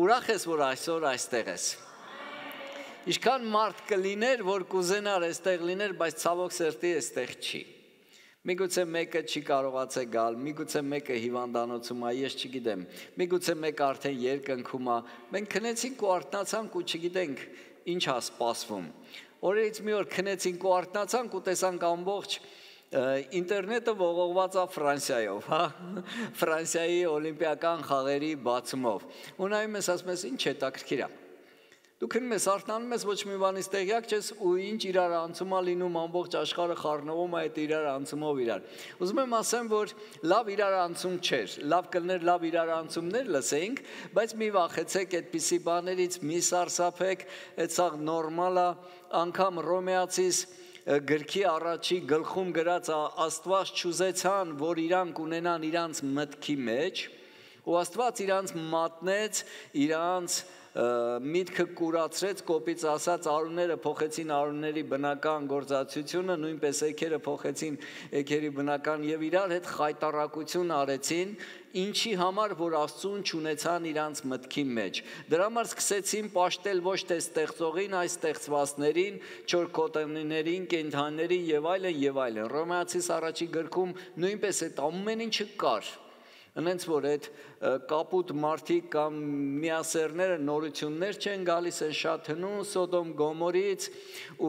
Ուրախ ես, որ այսօր այստեղ ես։ Ինչքան մարդ կլիներ, որ կուզենար այստեղ լիներ, բայց ցավոք սրտի այստեղ չի։ Միգուցե մեկը չի կարողացել գալ, միգուցե մեկը հիվանդանոցում է, ես չգիտեմ, միգուցե մեկը արդեն երկնքում է։ Մենք քնեցինք ու արթնացանք ու չգիտենք ինչ է սպասվում։ Օրերից մի օր քնեցինք ու արթնացանք ու տեսանք ամբողջ ինտերնետը ողողված է Ֆրանսիայով, հա, Ֆրանսիայի օլիմպիական խաղերի բացումով։ Ու նայում ես, ասում ես, ինչ հետաքրքիր է։ Դու քնում ես, արթնանում ես, ոչ մի բանից տեղյակ չես ու ինչ իրար անցում է լինում, ամբողջ աշխարհը խառնվում է այդ իրար անցումով իրար։ Ուզում եմ ասեմ, որ լավ իրար անցում չէր, լավ կլներ լավ իրար անցումներ լսեինք, բայց մի վախեցեք այդպիսի բաներից, մի սարսափեք, այդ սա նորմալ է, անգամ Ռոմեացիս գրքի առաջի գլխում գրած Աստված չուզեցան, որ իրանք ունենան իրանց մտքի մեջ, ու Աստված իրանց մատնեց, իրանց միտքը կուրացրեց, կոպիծ ասած արուները փոխեցին արուների բնական գործածությունը, նույնպես էգերը փոխեցին էգերի բնական եւ իրար հետ խայտարակություն արեցին, ինչի համար որ Աստծուն չունեցան իրանց մտքի մեջ։ Դրա համար սկսեցին պաշտել ոչ թե ստեղծողին, այլ ստեղծվածներին, չորքոտանիներին, կենդանիներին եւ այլն։ Ռոմեացիս առաջի գրքում նույնպես այդ ամեն ինչը կար։ Ընենց որ այդ կապուտ մարդիկ կամ միասերները նորություններ չեն գալիս, են շատ հնում Սոդոմ Գոմորից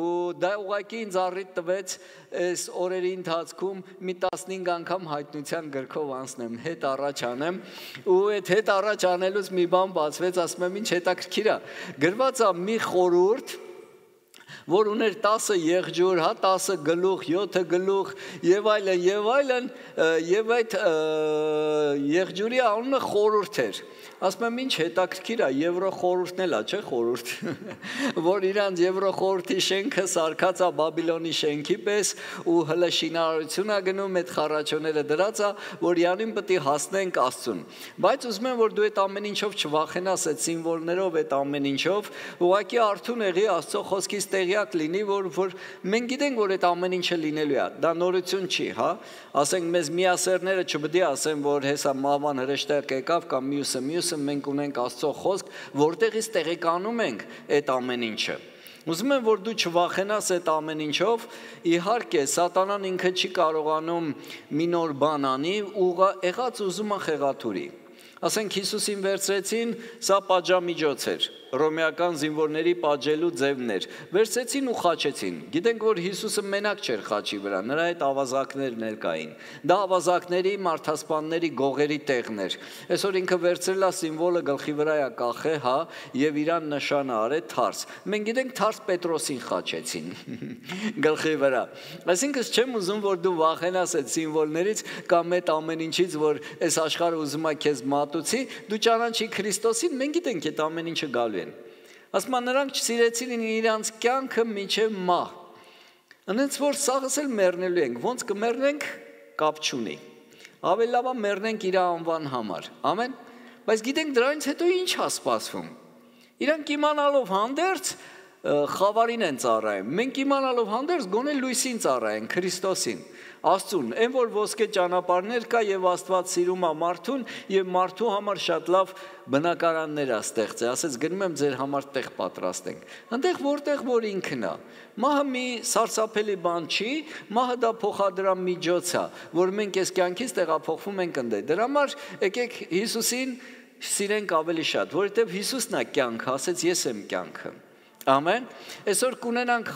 ու դա ուղղակի ինձ առիթ տվեց այս օրերի ընթացքում մի 15 անգամ հայտնության գրքով անցնեմ, հետ առաջ անեմ ու այդ հետ առաջ անելուց մի բան բացվեց, ասում եմ ինչ հետաքրքիր է, գրված է մի խորհուրդ որ ուներ 10 եղջյուր, հա 10 գլուխ, 7 գլուխ եւ այլն եւ այդ եղջյուրի անունը խորհուրդ էր։ Ասում եմ ինչ հետաքրքիր է, Եվրո խորհուրդն էլ է, չէ՞ խորհուրդ, որ իրանց Եվրո խորհրդի շենքը սարքած է Բաբիլոնի շենքի պես ու հələ շինարարություն է գնում, այդ խառաչոները դրած է, որ յանին պետք է հասնենք Աստծուն։ Բայց ուզում եմ որ դու այդ ամեն ինչով չվախենաս, այդ սիմվոլներով, այդ ամեն ինչով, ուղղակի արթուն եղի Աստծո խոսքից տեղյակ լինի, որ մենք գիտենք, որ այդ ամեն ինչը լինելու է, դա նորություն չի, հա, ասենք մեզ միասերները չպետք է ասեն, որ հեսա մաման հրեշտակ եկավ կամ մյուսը մենք ունենք Աստծո խոսք, որտեղից տեղեկանում ենք այդ ամեն ինչը։ Ուզում եմ, որ դու չվախենաս այդ ամեն ինչով, իհարկե, սատանան ինքը չի կարողանում մի նոր բան անի, եղած ուզում է խեղաթուրի։ Ասենք Հիսուսին վերցրեցին, սա պատժամիջոց էր, ռոմեական զինվորների պատժելու ձևներ, վերցրեցին ու խաչեցին։ Գիտենք, որ Հիսուսը մենակ չէր խաչի վրա, նրա հետ ավազակներն էլ կային։ Դա ավազակների, մարդասպանների գողերի տեղն էր։ Այսօր ինքը վերցրել է սիմվոլը գլխի վրա է կախե, հա, եւ իրան նշանը արել թարս։ Մենք գիտենք թարս Պետրոսին խաչեցին գլխի վրա։ Այսինքն չեմ ուզում, որ դու վախենաս այդ սիմվոլներից կամ այդ ամեն ինչից, որ այս աշխարհը ուզում է քեզ մատուցի, դու ճանաչի Քրիստոսին, մենք գիտենք այդ ամեն ինչը գալու է։ Ասում են նրանք չսիրեցին իրանց կյանքը մինչև մահ։ Ընենց որ սաղս էլ մեռնելու ենք, ոնց կմեռնենք, կապ չունի։ Ավելի լավ է մեռնենք իր անվան համար։ Ամեն։ Բայց գիտենք դրանից հետո ինչ է սպասվում։ Իրանք իմանալով հանդերձ խավարին են ծառայում։ Մենք իմանալով հանդերձ գոնե լույսին ծառայենք, Քրիստոսին, Աստծուն, այն որ ոսկե ճանապարհներ կա եւ Աստված սիրում է մարդուն եւ մարդու համար շատ լավ բնակարաններ է ստեղծել, ասեց գնում եմ ձեր համար տեղ պատրաստենք։ Այնտեղ որտեղ որ ինքն է։ Մահը մի սարսափելի բան չի, մահը դա փոխադրամ միջոց է, որ մենք այս կյանքից տեղափոխվում ենք ընդ։ Դրա համար եկեք Հիսուսին սիրենք ավելի շատ, որովհետեւ Հիսուսն է կյանքը, ասեց ես եմ կյանքը։ Ամեն։ Այսօր կունենանք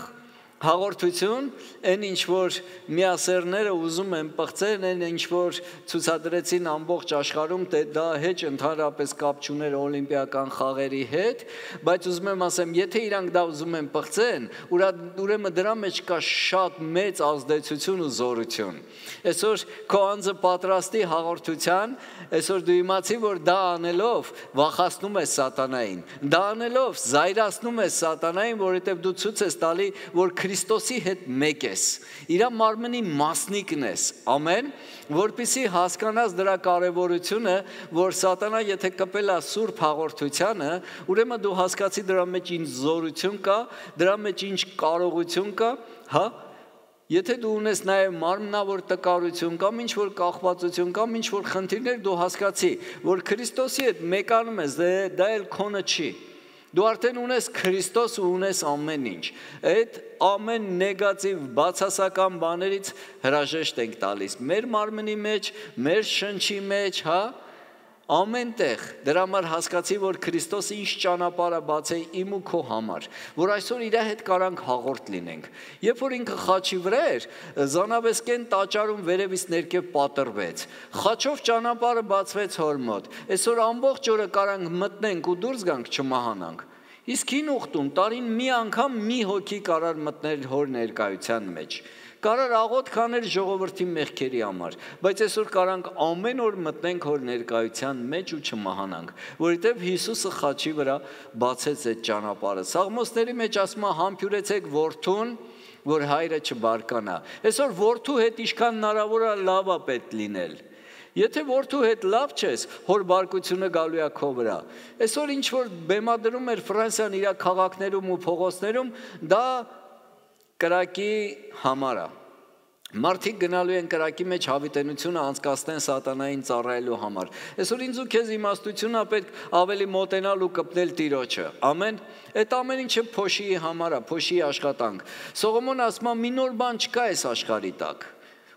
հաղորդություն, այն ինչ որ միասերները ուզում են պղծել, այն ինչ որ ցուցադրեցին ամբողջ աշխարհում, դա հեչ ընդհանրապես կապ չուներ օլիմպիական խաղերի հետ, բայց ուզում եմ ասեմ, եթե իրանք դա ուզում են պղծեն, ուրեմն դրա մեջ կա շատ մեծ ազդեցություն ու զորություն։ Այսօր քո անձը պատրաստի հաղորդության, այսօր դու իմացի, որ դա անելով վախացնում ես սատանային, դա անելով զայրացնում ես սատանային, որովհետև դու ցույց ես տալի, որ Քրիստոսի հետ մեկ ես, իր մարմնի մասնիկն ես, ամեն, որպեսզի հասկանաս դրա կարևորությունը, որ սատանա եթե կպել է սուրբ հաղորդությանը, ուրեմն դու հասկացի դրա մեջ ինչ զորություն կա, դրա մեջ ինչ կարողություն կա, հա, Եթե դու ունես նաև մարմնավոր տկարություն կամ ինչ-որ կախվածություն կամ ինչ-որ խնդիրներ, դու հասկացի, որ Քրիստոսի հետ մեկանում ես, դա էլ քոնը չի։ Դու արդեն ունես Քրիստոս ու ունես ամեն ինչ։ Այդ ամեն նեգատիվ բացասական բաներից հրաժեշտ ենք տալիս։ Մեր մարմնի մեջ, մեր շնչի մեջ, ամեն տեղ, դրա համար հասկացի, որ Քրիստոսը ինչ ճանապարհ է բացել իմ ու քո համար, որ այսօր իր հետ կարանք հաղորդ լինենք։ Երբ որ ինքը խաչի վրա էր, Զանավեսկեն տաճարում վերևից ներքև պատրվեց։ Խաչով ճանապարհը բացվեց հոր մոտ։ Այսօր ամբողջ օրը կարանք մտնենք ու դուրս գանք չմահանանք։ Իսկ հին ուխտում տարին մի անգամ մի հոգի կարար մտնել հոր ներկայության մեջ։ Կարար աղոթ քաներ ժողովրդի մեղքերի համար, բայց այսօր կարանք ամեն օր մտնենք հոր ներկայության մեջ ու չմահանանք, որովհետև Հիսուսը խաչի վրա բացեց այդ ճանապարհը։ Սաղմոսների մեջ ասում է համբյուրեցեք որդուն, որ հայրը չբարկանա։ Այսօր որդու հետ ինչքան հնարավոր է լավ է պետք լինել։ Եթե որդու հետ լավ չես, հոր բարկությունը գալու է քո վրա։ Այսօր ինչ որ բեմադրում էր Ֆրանսիան իր քաղաքներում ու փողոցներում, դա կրակի համար է։ Մարդիկ գնալու են կրակի մեջ հավիտենությունը անցկացնեն սատանային ծառայելու համար։ Այսօր ինձ ու քեզ իմաստությունն է պետք ավելի մոտենալ ու կպնել Տիրոջը։ Ամեն։ Այդ ամեն ինչը փոշիի համար է, փոշիի աշխատանք։ Սողոմոնը ասում է՝ մի նոր բան չկա այս աշխարհի տակ։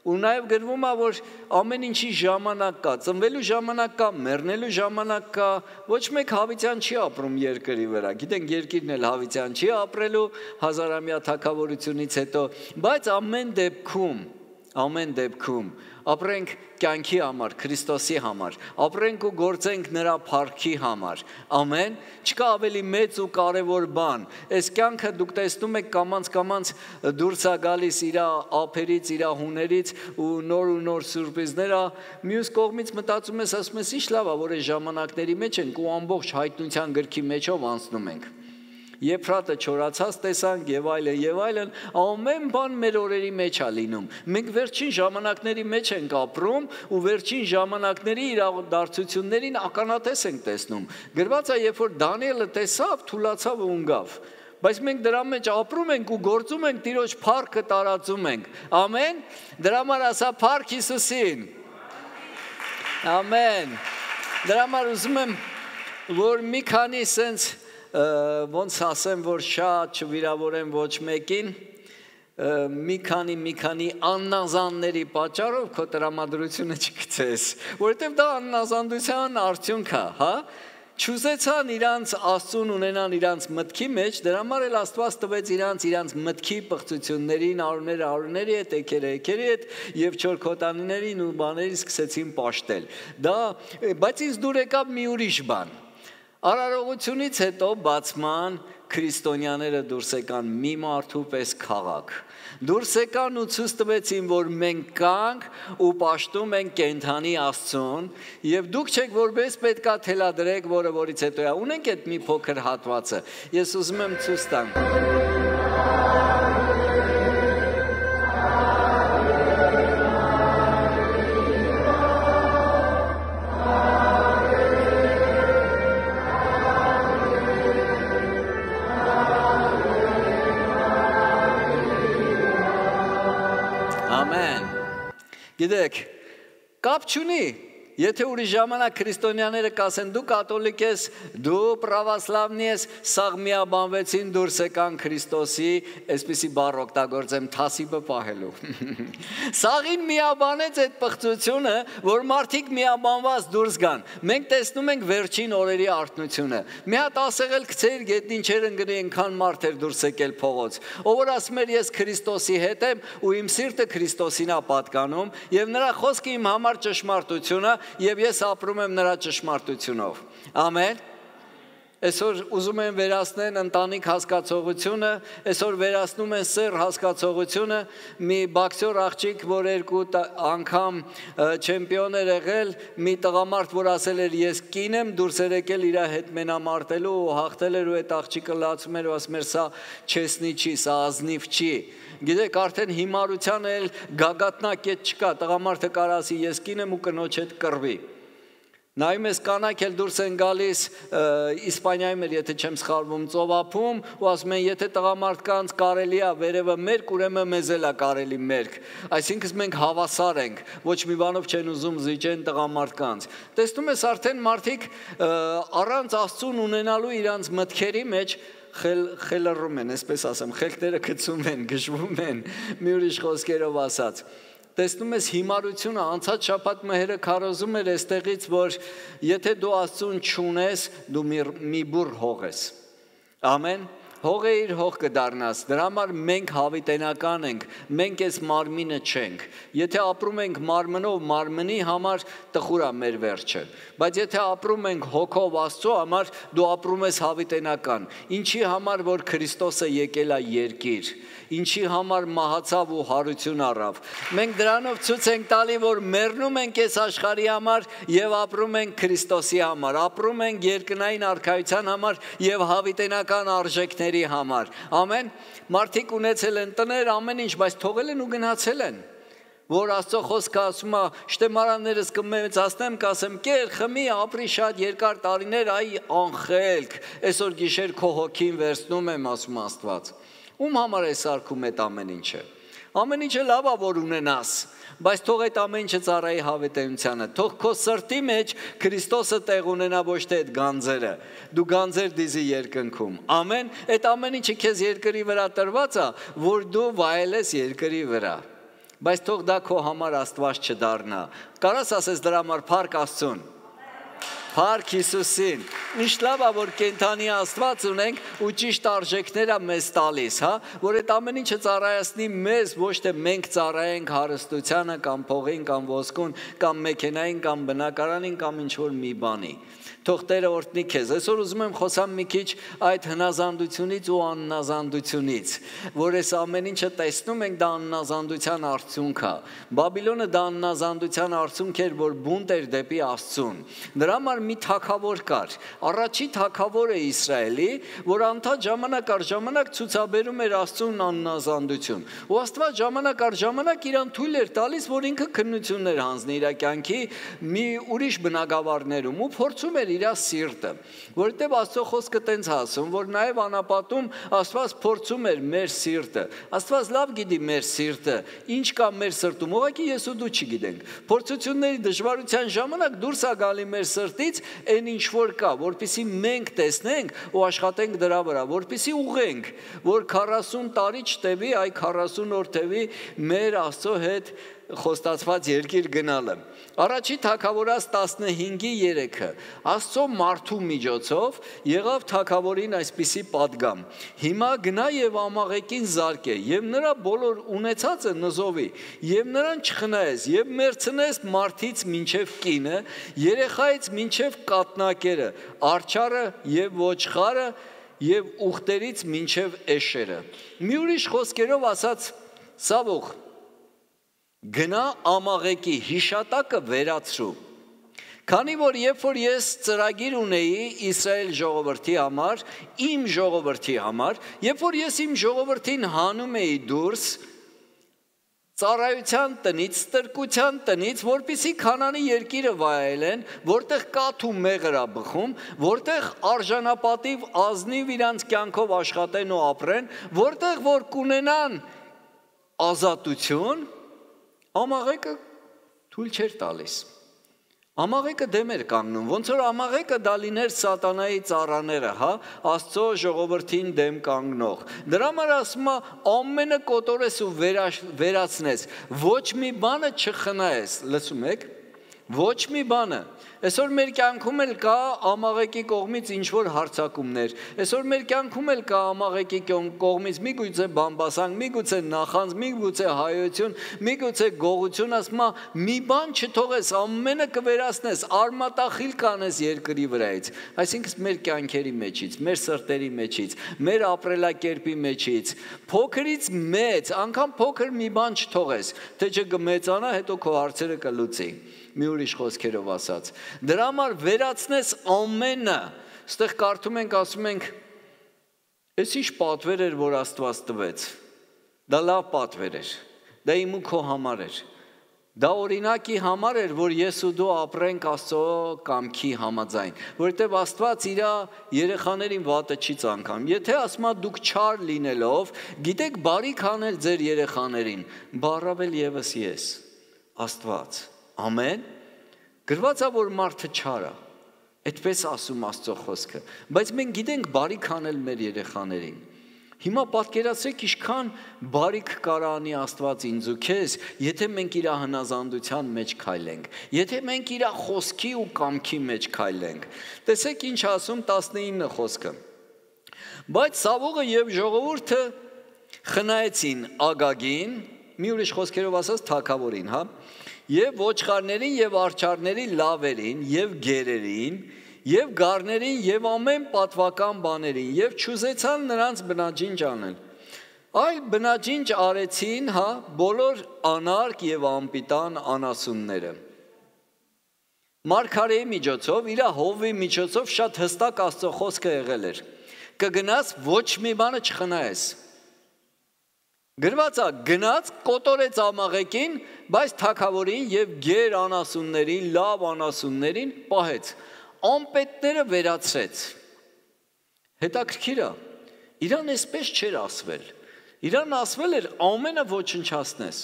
Ու նաև գրվում է, որ ամեն ինչի ժամանակ կա, ծնվելու ժամանակ կա, մեռնելու ժամանակ կա, ոչ մեկ հավիտյան չի ապրում երկրի վրա, գիտենք երկիրն էլ հավիտյան չի ապրելու հազարամյա թագավորությունից հետո, բայց ամեն դեպքում ապրենք կյանքի համար, Քրիստոսի համար, ապրենք ու գործենք նրա փառքի համար, ամեն, չկա ավելի մեծ ու կարևոր բան, այս կյանքը դուք տեսնում եք կամանց դուրս է գալիս իր ափերից, իր հուներից ու նոր սուրպրիզներ, մյուս կողմից մտածում ես, ասում ես, ինչ լավ է, որ այս ժամանակների մեջ ենք ու ամբողջ հայտնության գրքի մեջով անցնում ենք։ Եփրատը չորացած տեսանք եւ այլն, ամեն բան մեր օրերի մեջ է լինում։ Մենք վերջին ժամանակների մեջ ենք ապրում ու վերջին ժամանակների իրադարձություններին ականատես ենք տեսնում։ Գրված է, երբ որ Դանիելը տեսավ, թուլացավ ու ընկավ։ Բայց մենք դրա մեջ ապրում ենք ու գործում ենք, Տիրոջ փառքը տարածում ենք։ Ամեն։ Դրա համար ասա փառք Հիսուսին։ Ամեն։ Դրա համար ուզում եմ, որ մի քանի սենց ոնց ասեմ, որ շատ չվիրավորեմ ոչ մեկին, մի քանի աննազանների պատճառով քո տրամադրությունը չգցես, որովհետև դա աննազանդության արդյունք է, Չուզեցան իրանց Աստծուն ունենան իրանց մտքի մեջ, դրա համար էլ Աստված տվեց իրանց մտքի պղծություններին, արուների հետ, էքերի հետ եւ չորքոտանիներին ու բաների սկսեցին պաշտել։ Բայց ինձ դուր եկավ մի ուրիշ բան։ Արարողությունից հետո բացման քրիստոնյաները դուրս եկան մի մարդու պես քաղաք։ Դուրս եկան ու ցույց տվեցին, որ մենք կանք ու պաշտում ենք կենդանի Աստծուն, եւ դուք չեք որպես պետքա թելադրեք, որից հետո է։ Ունենք այդ մի փոքր հատվածը։ Ես ուզում եմ ցույց տամ։ Գիտեք, կապ չունի, եթե ուրիշ ժամանակ քրիստոնյաները կասեն դու կաթոլիկ ես, դու պրավասլավնի ես, սաղ միաբանվեցին դուրս եկան Քրիստոսի, այսպիսի բառ օգտագործեմ, թասիբը պահելու։ Սաղին միաբանեց այդ պղծությունը, որ մարդիկ միաբանված դուրս գան։ Մենք տեսնում ենք վերջին օրերի արթնությունը։ Մի հատ ասեղել գցեիր գետնին չեր ընկնի, այնքան մարդ էր դուրս եկել փողոց։ Ով որ ասում էր ես Քրիստոսի հետ եմ ու իմ սիրտը Քրիստոսին է պատկանում, եւ նրա խոսքը իմ համար ճշմարտություն է, եւ ես ապրում եմ նրա ճշմարտությունով։ Ամեն։ Այսօր ուզում են վերացնեն ընտանիք հասկացողությունը, այսօր վերացնում են սեռ հասկացողությունը, մի բոքսեր աղջիկ, որ 2 անգամ չեմպիոն էր եղել, մի տղամարդ, որ ասել էր ես կին եմ, դուրս էր եկել իր հետ մենամարտելու ու հաղթել էր ու այդ աղջիկը լացում էր ու ասում էր սա չեսնի չի, սա ազնիվ չի։ Գիտեք, արդեն հիմարության էլ գագաթնակետ չկա, տղամարդը կարող ասի ես կին եմ ու կնոջ հետ կռվի։ Նայում ես կանայք էլ դուրս են գալիս Իսպանիայում էր, եթե չեմ սխալվում, ծովափում ու ասում են, եթե տղամարդկանց կարելի է վերևը մերկ, ուրեմն մեզ էլ է կարելի մերկ։ Այսինքն մենք հավասար ենք, ոչ մի բանով չեն ուզում զիջեն տղամարդկանց։ Տեսնում ես արդեն մարդիկ առանց Աստծուն ունենալու իրանց մտքերի մեջ խելռում են, այսպես ասեմ, խելքները գցում են, գժվում են, մի ուրիշ խոսքերով ասած։ Տեսնում ես հիմարությունը, անցած շաբաթ մհերը քարոզում էր այստեղից, որ եթե դու Աստծուն չունես, դու մի բուռ հող ես։ Ամեն։ Հողը իր հող կդառնաս, դրա համար մենք հավիտենական ենք, մենք այս մարմինը չենք։ Եթե ապրում ենք մարմնով, մարմնի համար տխուր է մեր վերջը, բայց եթե ապրում ենք հոգով Աստծո համար, դու ապրում ես հավիտենական։ Ինչի համար, որ Քրիստոսը եկել է երկիր, ինչի համար մահացավ ու հարություն առավ։ Մենք դրանով ցույց ենք տալի, որ մեռնում ենք այս աշխարհի համար եւ ապրում ենք Քրիստոսի համար, ապրում ենք երկնային արքայության համար եւ հավիտենական արժեքների համար։ Ամեն։ Մարդիկ ունեցել են տներ, ամեն ինչ, բայց թողել են ու գնացել են։ Որ Աստծո խոսքը ասում է, շտեմարաններս կմեծացնեմ, կասեմ, կեր, խմի, ապրի շատ երկար տարիներ, այ անխելք, այսօր գիշեր քո հոգին վերցնում եմ, ասում Աստված։ Ում համար է սարքում այդ ամեն ինչը։ Ամեն ինչը լավ է, որ ունենաս, բայց թող այդ ամեն ինչը ծառայի հավիտենությանը, թող քո սրտի մեջ Քրիստոսը տեղ ունենա, ոչ թե այդ գանձերը, դու գանձեր դիզի երկնքում, ամեն, այդ ամեն ինչը քեզ երկրի վրա տրված է, որ դու վայելես երկրի վրա, բայց թող դա քո համար Աստված չդառնա, կարաս ասես դրա համար փառք Աստծուն, փառք Հիսուսին, ինչ լավ է, որ կենդանի Աստված ունենք ու ճիշտ արժեքներ է մեզ տալիս, հա, որ այդ ամեն ինչը ծառայացնի մեզ, ոչ թե մենք ծառայենք հարստությանը կամ փողին կամ ոսկուն կամ մեքենային կամ բնակարանին կամ ինչ որ մի բանի։ Թող Տերը օրհնի քեզ։ Այսօր ուզում եմ խոսամ մի քիչ այդ հնազանդությունից ու անհնազանդությունից, որ այս ամեն ինչը տեսնում ենք, դա անհնազանդության արդյունք է։ Բաբիլոնը դա անհնազանդության արդյունք էր, որ բունտ էր դեպի Աստծուն։ Դրա համար մի թագավոր կար, առաջի թագավորը Իսրայելի, որ անդադ ժամանակ առ ժամանակ ցուցաբերում էր Աստծուն անհնազանդություն։ Ու Աստված ժամանակ առ ժամանակ իրան թույլ էր տալիս, որ ինքը քննություններ հանձնի իր կյանքի մի ուրիշ բնակավարներում ու փորձում էր իր սիրտը, որովհետև Աստծո խոսքը տենց ասում, որ նաև անապատում Աստված փորձում էր մեր սիրտը։ Աստված լավ գիտի մեր սիրտը, ինչ կա մեր սրտում, ուղղակի ես ու դու չգիտենք։ Փորձությունների դժվարության ժամանակ դուրս է գալի մեր սրտից այն ինչ որ կա, որպեսզի մենք տեսնենք ու աշխատենք դրա վրա, որպեսզի ուղենք, որ 40 տարի չտևի, այ 40 օր տևի մեր Աստծո հետ խոստացված երկիր գնալը։ Առաջի թագավորած 15:3 Աստծո մարդու միջոցով եղավ թագավորին այսպիսի պատգամ. հիմա գնա եւ ամաղեկին զարկե եւ նրա բոլոր ունեցածը նզովի եւ նրան չխնայես եւ մերցնես մարդից մինչեւ կինը, երեխայից մինչեւ կատնակերը, արջարը եւ ոչխարը եւ ուխտերից մինչեւ էշերը։ Մի ուրիշ խոսքերով ասած, Սավուխ, գնա ամաղեկի հիշատակը վերացրու, քանի որ երբ որ ես ծրագիր ունեի Իսրայել ժողովրդի համար, իմ ժողովրդի համար, երբ որ ես իմ ժողովրդին հանում էի դուրս ծառայության տնից, ստրկության տնից, որպեսզի Քանանի երկիրը վայելեն, որտեղ կաթ ու մեղր է բխում, որտեղ արժանապատիվ ազնիվ իրանց կյանքով աշխատեն ու ապրեն, որտեղ որ կունենան ազատություն, ամաղեկը թույլ չէր տալիս։ Ամաղեկը դեմ էր կանգնում, ոնց որ ամաղեկը դա լիներ սատանայի ծառաները, հա, Աստծո ժողովրդին դեմ կանգնող։ Դրա համար ասում է ամենը կոտորես ու վերացնես, ոչ մի բանը չխնայես, լսում եք, ոչ մի բանը։ Այսօր մեր կյանքում էլ կա ամաղեկի կողմից ինչ-որ հարձակումներ, այսօր մեր կյանքում էլ կա ամաղեկի կողմից միգուցե բամբասանք, միգուցե նախանձ, միգուցե հայություն, միգուցե գողություն, ասում է մի բան չթողես, ամենը կվերացնես, արմատախիլ կանես երկրի վրայից, այսինքն մեր կյանքերի մեջից, մեր սրտերի մեջից, մեր ապրելակերպի մեջից, փոքրից մեծ, անգամ փոքր մի բան չթողես, թե չկմեծանա, հետո քո հարցերը կլուծի։ Մի ուրիշ խոսքերով ասած, դրա համար վերացնես ամենը, ստեղ կարդում ենք, ասում ենք, այս ինչ պատվեր էր, որ Աստված տվեց, դա լավ պատվեր էր, դա իմ ու քո համար էր, Դա օրինակի համար էր, որ ես ու դու ապրենք Աստծո կամքի համաձայն, որովհետև Աստված իր երեխաներին վատը չի ցանկանում։ Եթե ասում է դուք չար լինելով, գիտեք բարիք անել ձեր երեխաներին, բառավել եւս ես, Աստված։ Ամեն։ Գրված է, որ մարդը չար է։ Այդպես ասում Աստծո խոսքը, բայց մենք գիտենք բարիք անել մեր երեխաներին։ Հիմա պատկերացրեք ինչքան բարիք կարանի Աստված ինձ ու քեզ, եթե մենք իր հնազանդության մեջ քայլենք, եթե մենք իր խոսքի ու կամքի մեջ քայլենք։ Տեսեք ինչ ասում 19 խոսքը։ Բայց Սավողը եւ ժողովուրդը խնայեցին Ագագին, մի ուրիշ խոսքերով ասած թագավորին, հա, եւ ոչխարներին եւ արջարներին լավերին եւ գերերին եւ գառներին եւ ամեն պատվական բաներին եւ չուզեցան նրանց բնաջինջ անել։ Այլ բնաջինջ արեցին, հա, բոլոր անարգ եւ անպիտան անասունները։ Մարգարեի միջոցով, իր հովի միջոցով շատ հստակ Աստծո խոսքը եղել էր։ Կգնաս ոչ մի բանը չխնայես։ Գրված է, գնաց կոտորեց ամաղեկին, բայց թագավորին եւ գեր անասուններին, լավ անասուններին պահեց։ Ամպետները վերացրեց։ Հետաքրքիր է, իրան այսպես չէր ասվել։ Իրան ասվել էր ամենը ոչնչացնես,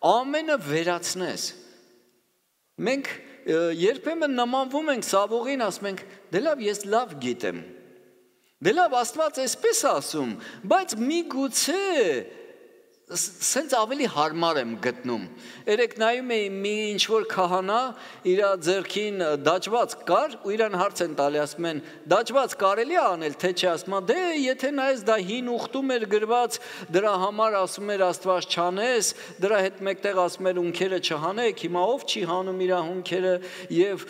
ամենը վերացնես։ Մենք երբեմն նմանվում ենք Սավողին, ասում ենք, դե լավ, ես լավ գիտեմ։ Դե լավ, Աստված այսպես ասում, բայց միգուցե սենց ավելի հարմար եմ գտնում։ Երեք նայում էի մի ինչ-որ քահանա, իր ձեռքին դաջված կար ու իրան հարց են տալի, ասում են, դաջված կարելի է անել, թե չէ, ասում է, դե եթե նայես դա հին ուխտում էր գրված, դրա համար ասում էր Աստված չանես, դրա հետ մեկտեղ ասում էր ունքերը չհանեք, հիմա ով չի հանում իր ունքերը եւ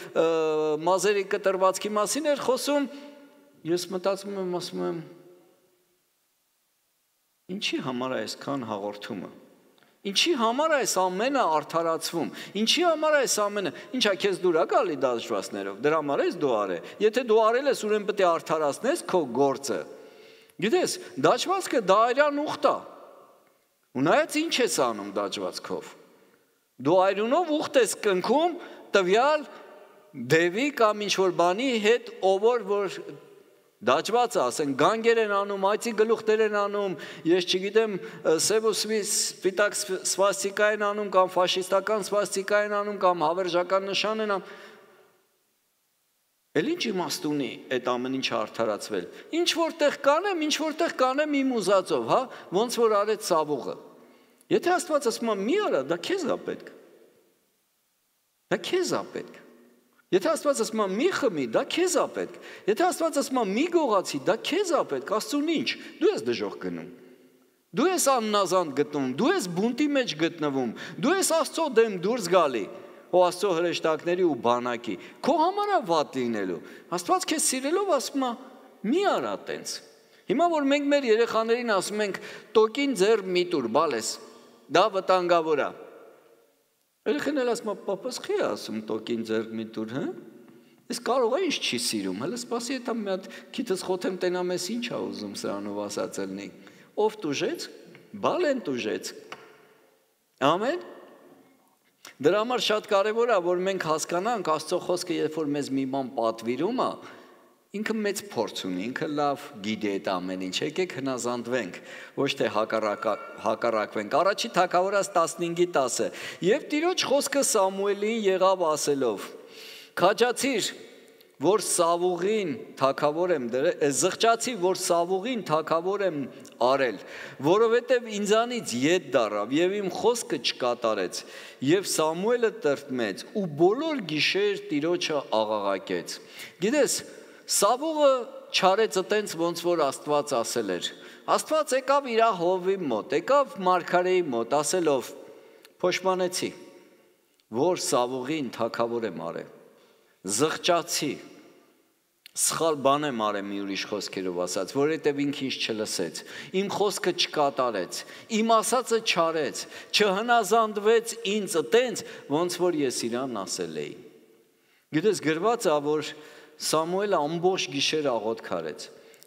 մազերի կտրվածքի մասին էր խոսում, ես մտածում եմ, ասում եմ, ինչի համար է այսքան հաղորդումը, ինչի համար է այս ամենը արդարացվում, ինչի համար է այս ամենը, ինչա քեզ դուր է գալի դաջվածներով, դրա համար ես դու արե, եթե դու արել ես, ուրեմն պետք է արդարացնես քո գործը, գիտես, դաջվածքը դա այրան ուխտ է, ու նայած ինչ ես անում դաջվածքով, դու այրունով ուխտ ես կնքում տվյալ դևի կամ ինչ-որ բանի հետ, ով որ դաջվածը, ասեն, գանգեր են անում, այծի գլուխներ են անում, ես չգիտեմ, սև ու սպիտակ սվաստիկա են անում, կամ ֆաշիստական սվաստիկա են անում, կամ հավերժական նշան են անում։ Էլ ինչ իմաստ ունի այդ ամեն ինչը արդարացվել։ Ինչ որտեղ կանեմ իմ ուզածով, հա, ոնց որ արեց Սավողը։ Եթե Աստված ասում է մի արա, դա քեզ է պետք։ Դա քեզ է պետք։ Եթե Աստված ասում է մի խմի, դա քեզ է պետք։ Եթե Աստված ասում է մի գողացի, դա քեզ է պետք, Աստծուն ինչ։ Դու ես դժոխք գնում։ Դու ես աննազանդ գտնում, դու ես բունտի մեջ գտնվում, դու ես Աստծո դեմ դուրս գալի, ու Աստծո հրեշտակների ու բանակի։ Քո համար է վատ լինելու։ Աստված քեզ սիրելով ասում է՝ մի արա տենց։ Հիմա որ մենք մեր երեխաներին ասում ենք՝ տոկին ձեռ մի տուր, բալես, դա վտանգավոր է։ Երեխան էլ ասում է, պապաս խի ասում տոկին ձեռք մի տուր, հա? Ես կարող է ինչ չի սիրում, հələ սպասի հետա մի հատ քիթս խոթեմ տենամ ես ինչ ա ուզում սրանով ասածելնի։ Ով տուժեց, բալեն տուժեց։ Ամեն։ Դրա համար շատ կարևոր է, որ մենք հասկանանք Աստծո խոսքը, երբ որ մեզ մի բան պատվիրում է, ինքը մեծ փորձ ունի, ինքը լավ գիտի այդ ամեն ինչ, եկեք հնազանդվենք, ոչ թե հակառակվենք։ Առաջի թագավորաց 15:10 Եվ Տիրոջ խոսքը Սամուելին եղավ ասելով. Քաջացիր, որ Սավողին թագավոր եմ դրել, զղջացի, որ Սավողին թագավոր եմ արել, որովհետև ինձանից ետ դառավ եւ իմ խոսքը չկատարեց, եւ Սամուելը տրտմեց ու բոլոր գիշեր Տիրոջը աղաղակեց։ Գիտես, Սավողը չարեց այտենց ոնց որ Աստված ասել էր։ Աստված եկավ իր հովի մոտ, եկավ մարգարեի մոտ, ասելով. Փոշմանեցի, որ Սավողին թագավոր եմ արել, զղջացի, սխալ բան եմ արել մի ուրիշ խոսքերով ասած, որովհետև ինքը ինձ չլսեց, իմ խոսքը չկատարեց, իմ ասածը չարեց, չհնազանդվեց ինձ այտենց ոնց որ ես իրան ասել էի։ Գիտես գրված է, որ Սամուելը ամբողջ գիշեր աղոթք արեց,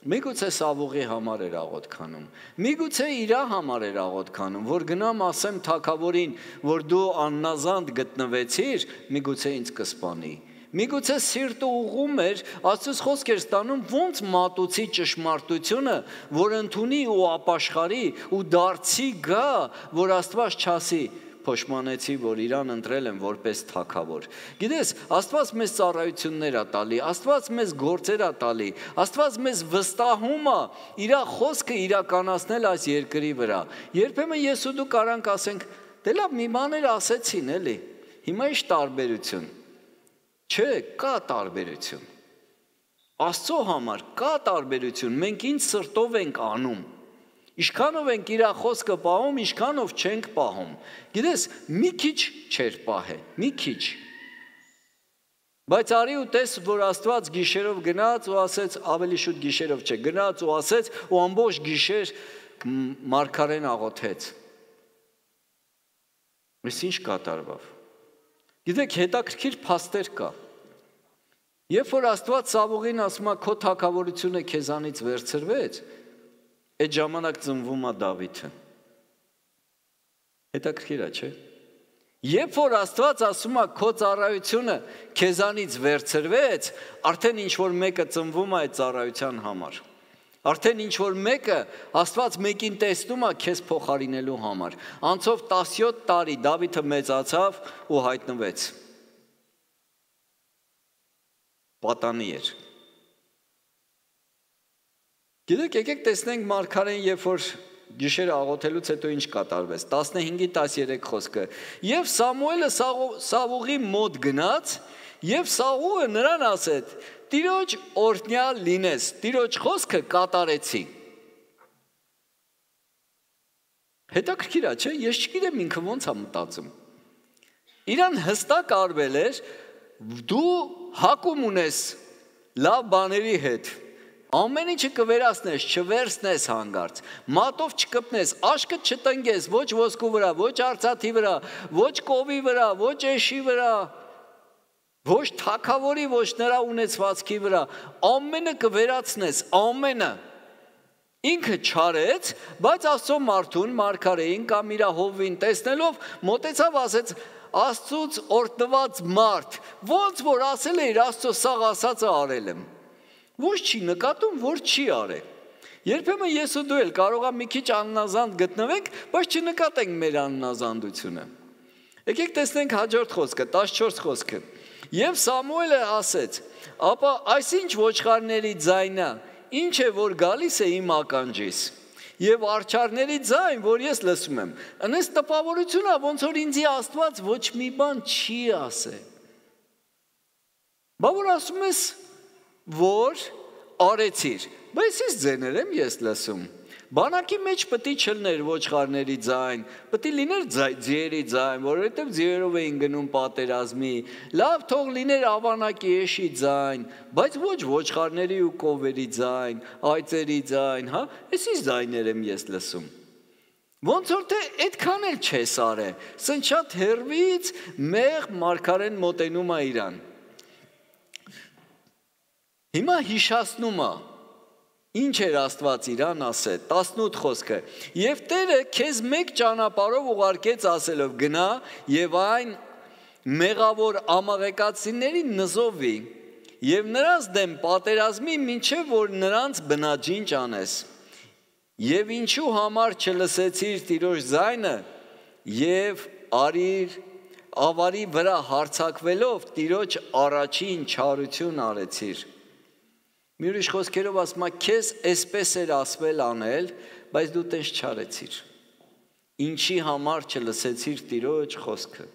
Միգուցե Սավուղի համար էր աղոթ քանում, միգուցե իր համար էր աղոթ քանում, որ գնամ ասեմ թագավորին, որ դու աննազանդ գտնվեցիր, միգուցե ինձ կսպանի։ Միգուցե սիրտը ուղում էր, Աստծուց խոսք էր ստանում, ոնց մատուցի ճշմարտությունը, որ ընդունի ու ապաշխարի ու դարձի գա, որ Աստված չասի, փոշմանեցի, որ իրան ընտրել եմ որպես թագավոր։ Գիտես, Աստված մեզ ծառայություններ է տալի, Աստված մեզ գործեր է տալի, Աստված մեզ վստահում է իր խոսքը իրականացնել այս երկրի վրա։ Երբեմն ես ու դու կարանք ասենք, դե լավ, մի բաներ ասեցին, էլի։ Հիմա ի՞նչ տարբերություն։ Չէ, կա տարբերություն։ Աստծո համար կա տարբերություն, մենք ինչ սրտով ենք անում։ Ինչքանով ենք իր խոսքը պահում, ինչքանով չենք պահում։ Գիտես, մի քիչ չէր պահել, մի քիչ։ Բայց արի ու տես, որ Աստված գիշերով գնաց ու ասեց, ավելի շուտ գիշերով չէ, գնաց ու ասեց ու ամբողջ գիշեր մարգարեն աղոթեց։ Այս ինչ կատարվավ։ Գիտեք, հետաքրքիր փաստեր կա։ Երբ որ Աստված Սավուղին ասում է, քո թագավորությունը քեզանից վերցրվեց, այդ ժամանակ ծնվում է Դավիթը։ Հետաքրքիր է, չէ՞։ Երբ որ Աստված ասում է, քո ծառայությունը քեզանից վերցրվեց, արդեն ինչ որ մեկը ծնվում է այդ ծառայության համար։ Արդեն ինչ որ մեկը Աստված մեկին տեսնում է քեզ փոխարինելու համար։ Անցով 17 տարի Դավիթը մեծացավ ու հայտնվեց։ Պատանի էր։ Գիտեք, եկեք տեսնենք մարգարեն, երբ որ գիշերը աղոթելուց հետո ինչ կատարվեց։ 15-13 խոսքը։ Եվ Սամուելը Սավուղի մոտ գնաց, եւ Սավուղը նրան ասեց. Տիրոջ օրհնյալ լինես, Տիրոջ խոսքը կատարեցի։ Հետաքրքիր է, չէ՞, ես չգիտեմ ինքը ոնց է մտածում։ Իրան հստակ արվել էր, դու հակում ունես լավ բաների հետ։ Ամեն ինչը կվերացնես, չվերցնես հանգարց, մատով չկպնես, աշկը չտնգես, ոչ ոսկու վրա, ոչ արծաթի վրա, ոչ կովի վրա, ոչ էշի վրա, ոչ թագավորի, ոչ նրա ունեցվածքի վրա, ամենը կվերացնես, ամենը։ Ինքը չարեց, բայց Աստծո մարդուն, մարգարեին կամ իր հովին տեսնելով մոտեցավ, ասեց. Աստծուց օրհնված մարդ, ոնց որ ասել է իր Աստծո սաղ ասածը արել եմ։ Ոչ չի նկատում, որ չի արել։ Երբեմն ես ու դու էլ կարող է մի քիչ աննազանդ գտնվենք, բայց չնկատենք մեր աննազանդությունը։ Եկեք տեսնենք հաջորդ խոսքը, 14 խոսքը։ Եվ Սամուելը ասեց. ապա այսինչ ոչխարների ձայնը, ինչ է որ գալիս է իմ ականջիս, եւ արջարների ձայն, որ ես լսում եմ։ Անես տպավորություն է, ոնց որ ինձի Աստված ոչ մի բան չի ասել։ Բա որ ասում ես, որ արեցիր, բայց ես ձեներ եմ ես լսում։ Բանակի մեջ պետք է չլներ ոչխարների ձայն, պետք է լիներ ձիերի ձայն, որովհետև ձիերով էին գնում պատերազմի, լավ թող լիներ ավանակի էշի ձայն, բայց ոչ ոչխարների ու կովերի ձայն, այծերի ձայն, հա, էսի ձայներ եմ ես լսում։ Ոնց որ թե այդքան էլ չես արել, սենց շատ հեռվից մեղ մարգարեն մոտենում է իրան։ Հիմա հիշացնում է, ինչ էր Աստված իրան ասել, 18 խոսքը, և Տերը քեզ մեկ ճանապարհով ուղարկեց ասելով գնա և այն մեղավոր ամաղեկացիներին նզովի և նրանց դեմ պատերազմի մինչև որ նրանց բնաջինջ անես և ինչու համար չլսեցիր Տիրոջ ձայնը և ավարի վրա հարձակվելով Տիրոջ առաջին չարություն արեցիր։ Մի ուրիշ խոսքերով ասում է, քեզ էսպես էր ասվել անել, բայց դու տես չարեցիր։ Ինչի համար չլսեցիր Տիրոջ խոսքը,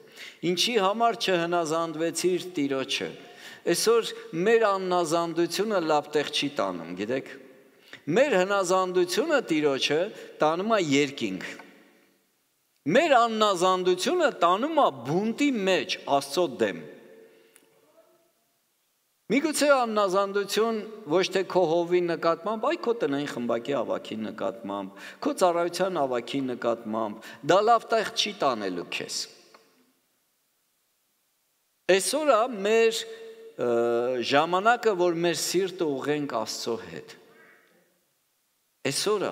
ինչի համար չհնազանդվեցիր Տիրոջը։ Այսօր մեր աննազանդությունը լավ տեղ չի տանում, գիտեք։ Մեր հնազանդությունը Տիրոջը տանում է երկինք։ Մեր աննազանդությունը տանում է բունտի մեջ Աստծո դեմ։ Միգուցե աննազանդություն ոչ թե քո հովի նկատմամբ, այ քո տնային խմբակի ավագի նկատմամբ, քո ծառայության ավագի նկատմամբ, դա լավ տեղ չի տանելու քեզ։ Այսօր է մեր ժամանակը, որ մեր սիրտը ուղենք Աստծո հետ։ Այսօրը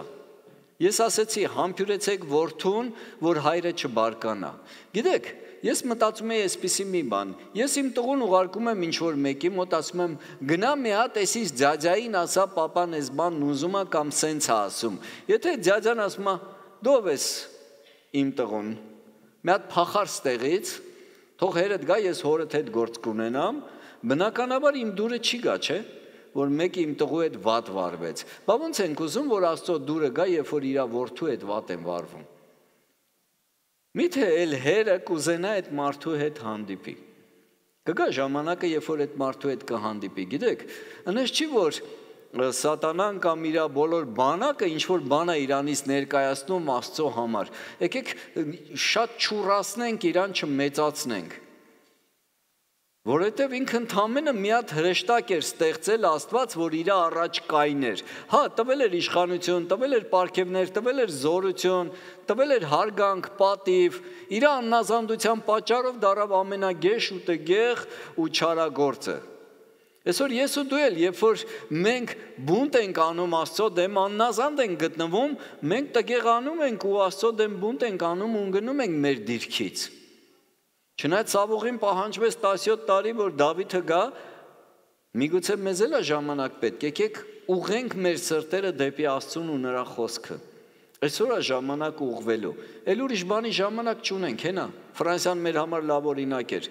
ես ասեցի համբյուրեցեք որդուն, որ հայրը չբարկանա։ Գիտեք, ես մտածում եմ այսպիսի մի բան, ես իմ տղուն ուղարկում եմ ինչ-որ մեկի մոտ, ասում եմ գնա մի հատ էսից ձյաձային ասա պապան էս բանն ուզում է կամ սենց է ասում։ Եթե ձյաձան ասում է դու ով ես իմ տղուն, մի հատ փախար ստեղից, թող հերդ գա ես հորդ հետ գործ կունենամ, բնականաբար իմ դուրը չի գա, չէ՞, որ մեկը իմ տղու հետ վատ վարվեց։ Բա ոնց ենք ուզում, որ Աստծո դուրը գա, երբ որ իր որդու հետ վատ են վարվում։ Միթե էլ հերը կուզենա այդ մարդու հետ հանդիպի։ Կգա ժամանակը, երբ որ այդ մարդու հետ կհանդիպի։ Գիտեք, այնպես չի, որ Սատանան կամ իր բոլոր բանակը ինչ որ բան է իրանից ներկայացնում Աստծո համար։ Եկեք շատ չուրացնենք իրան, չմեծացնենք։ Որովհետև ինքը ընդամենը մի հատ հրեշտակ էր ստեղծել Աստված, որ իր առաջ կայներ։ Հա, տվել էր իշխանություն, տվել էր պարգևներ, տվել էր զորություն, տվել էր հարգանք, պատիվ, իր աննազանդության պատճառով դառավ ամենագեշ ու տգեղ ու չարագործը։ Այսօր ես ու դու էլ, երբ որ մենք բունտ ենք անում Աստծո դեմ, աննազանդ ենք գտնվում, մենք տգեղանում ենք ու Աստծո դեմ բունտ ենք անում ու ընկնում ենք մեր դիրքից։ Չնայած Սավուղին պահանջվեց 17 տարի, որ Դավիթը գա, միգուցե մեզ էլ է ժամանակ պետք, եկեք ուղենք մեր սրտերը դեպի Աստծուն ու նրա խոսքը։ Այսօր է ժամանակ ուղղվելու։ Էլ ուրիշ բանի ժամանակ չունենք, հենա։ Ֆրանսիան մեր համար լավ օրինակ էր։